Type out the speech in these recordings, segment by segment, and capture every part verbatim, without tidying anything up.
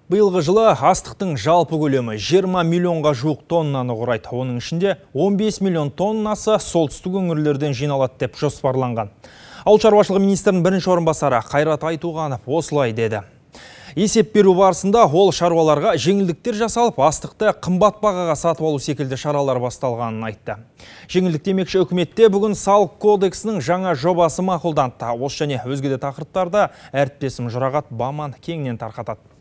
Биылғы жылы астықтың жалпы көлемі жиырма миллионға жуық тоннаны құрайды. Оның ішінде он бес миллион тоннасы солтүстік өңірлерден жиналады деп жоспарланған. Ауыл шаруашылығы министрінің бірінші орынбасары Қайрат Айтуғанов осылай деді. Есеп беру барысында ол шаруаларға жеңілдіктер жасалып, астықты қымбат бағаға сатып алу секілді шаралар басталғанын айтты. Жеңілдік демекші үкіметте бүгін салық кодексінің жаңа жобасы мақұлданды. Осы және өзге де тақырыптарда әріптесім Жұрағат Баман кеңінен тарқатады.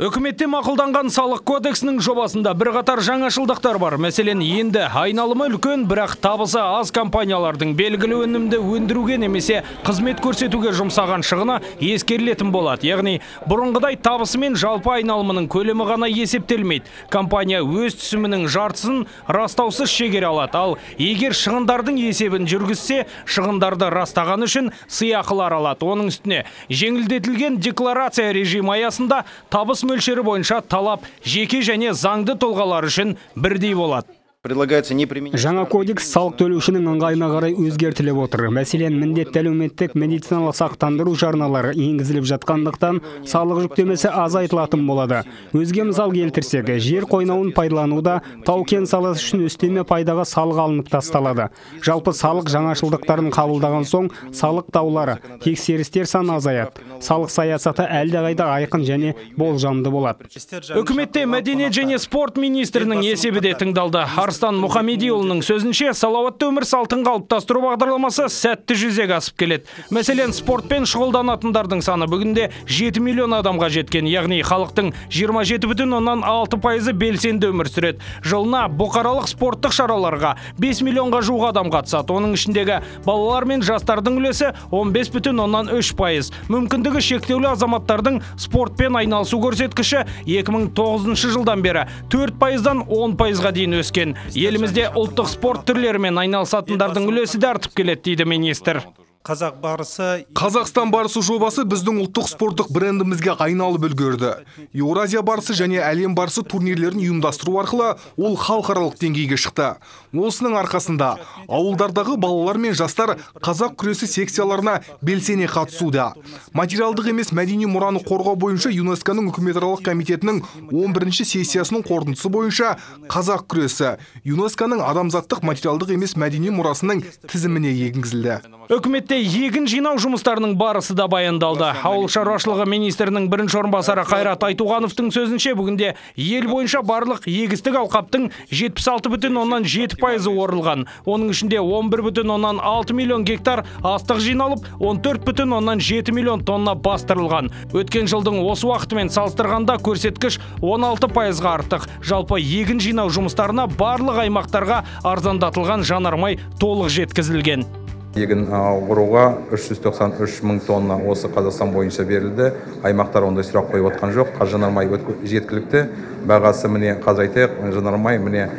Үкіметте мақұлданған салық кодексінің жобасында бірқатар жаңашылдықтар бар. Мәселен, енді айналымы үлкен, бірақ табысы аз компаниялардың белгілі өнімді өндіруге немесе қызмет көрсетуге жұмсаған шығыны ескерілетін болады. Яғни, бұрынғыдай табысы мен жалпы айналымының көлемі ғана есептелмейді. Компания өз түсімінің жартысын растаусыз шегере алады. Ал егер шығындардың есебін жүргізсе, шығындарды растаған үшін сыйақылар алады. Оның үстіне жеңілдетілген декларация режимі аясында табыс мөлшері бойынша талап жеке және заңды тұлғалар үшін бірдей болады. Жаңа кодекс салық төлеушінің ыңғайына қарай өзгертіліп отыр. Мәселен, міндетті әлеуметтік медициналық сақтандыру жарналары енгізіліп жатқандықтан салық жүктемесі азайтылатын болады. Өзге мысал келтірсек, жер қойнауын пайдалануда тау-кен саласы үшін үстеме пайдаға салық алынып тасталады. Жалпы салық жаңашылдықтарын қабылдаған соң салық даулары, тексерістер саны азаяды. Салық саясаты әлдеқайда айқын және болжамды болады. Үкіметте мәдениет және спорт министрінің есебі де тыңдалды. Арыстан Мұхамедиұлының сөзінше, салауатты өмір салтын қалыптастыру бағдарламасы сәтті жүзеге асып келеді. Мәселен, спортпен шұғылданатындардың саны бүгінде жеті миллион адамға жеткен, яғни халықтың жиырма жеті бүтін оннан алты пайызы белсенді өмір сүреді. Жылына бұқаралық спорттық шараларға бес миллионға жуық адам қатысады. Оның ішіндегі балалар мен жастардың үлесі он бес бүтін оннан үш пайыз. Мүмкіндігі шектеулі азаматтардың спортпен айналысу көрсеткіші екі мың тоғызыншы жылдан бері төрт пайыздан он пайызға дейін өскен. Елімізде ұлттық спорт түрлерімен айналысатындардың үлесі де артып келеді, дейді министр. Қазақ барысы Қазақстан барысы жобасы біздің ұлттық спорттық брендімізге айналып үлгерді. Еуразия барысы және әлем барысы турнирлерін ұйымдастыру арқылы ол халықаралық деңгейге шықты. Осының арқасында ауылдардағы балалар мен жастар қазақ күресі секцияларына белсене қатысуда. Материалдық емес мәдени мұраны қорғау бойынша ЮНЕСКО-ның үкіметаралық комитетінің он бірінші сессиясының қорытындысы бойынша қазақ күресі ЮНЕСКО-ның адамзаттық материалдық емес мәдени мұрасының тізіміне енгізілді. Үкіметте егін жинау жұмыстарының барысы да баяндалды. Ауыл шаруашылығы министрінің бірінші орынбасары Қайрат Айтуғановтың сөзінше, бүгінде ел бойынша барлық егістік алқаптың жетпіс алты бүтін оннан жеті пайызы орылған. Оның ішінде он бір бүтін оннан алты миллион гектар астық жиналып, он төрт бүтін оннан жеті миллион тонна бастырылған. Өткен жылдың осы уақытымен салыстырғанда көрсеткіш он алты пайызға артық. Жалпы егін жинау жұмыстарына барлық аймақтарға арзандатылған жанармай толық жеткізілген. Егін оруға үш жүз тоқсан үш мың тонна осы Қазақстан бойынша берілді. Аймақтар ондай сұрақ қойып отқан жоқ. Жанармай жеткілікті. Бағасы міне қазір айтайық, жанармай міне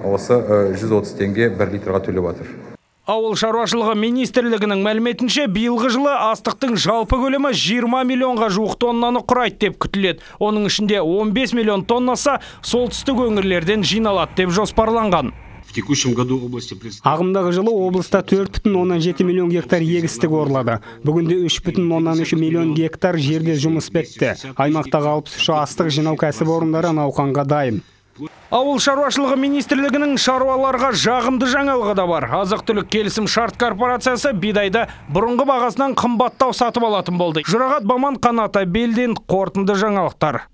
осы жүз отыз теңге бір литрға төлеп отыр. Ауыл шаруашылығы министрлігінің мәліметінше, биылғы жылы астықтың жалпы көлемі жиырма миллионға жуық тоннаны құрайды деп күтіледі. Оның ішінде он бес миллион тоннасы солтүстік өңірлерден жиналады деп жоспарланған. Ағымдағы жылы облыста төрт бүтін оннан жеті миллион гектар егістік орылады. Бүгінде үш бүтін оннан үш миллион гектар жерде жұмыс бітті. Аймақтағы алпыс үш астық жинау кәсіпорындары науқанға дайын. Ауыл шаруашылығы министрлігінің шаруаларға жағымды жаңалығы да бар. Азық-түлік келісім шарт корпорациясы бидайды бұрынғы бағасынан қымбаттау сатып алатын болды. Жұрағат Баман, Қанат Абелдин, қорытынды жаңалықтар.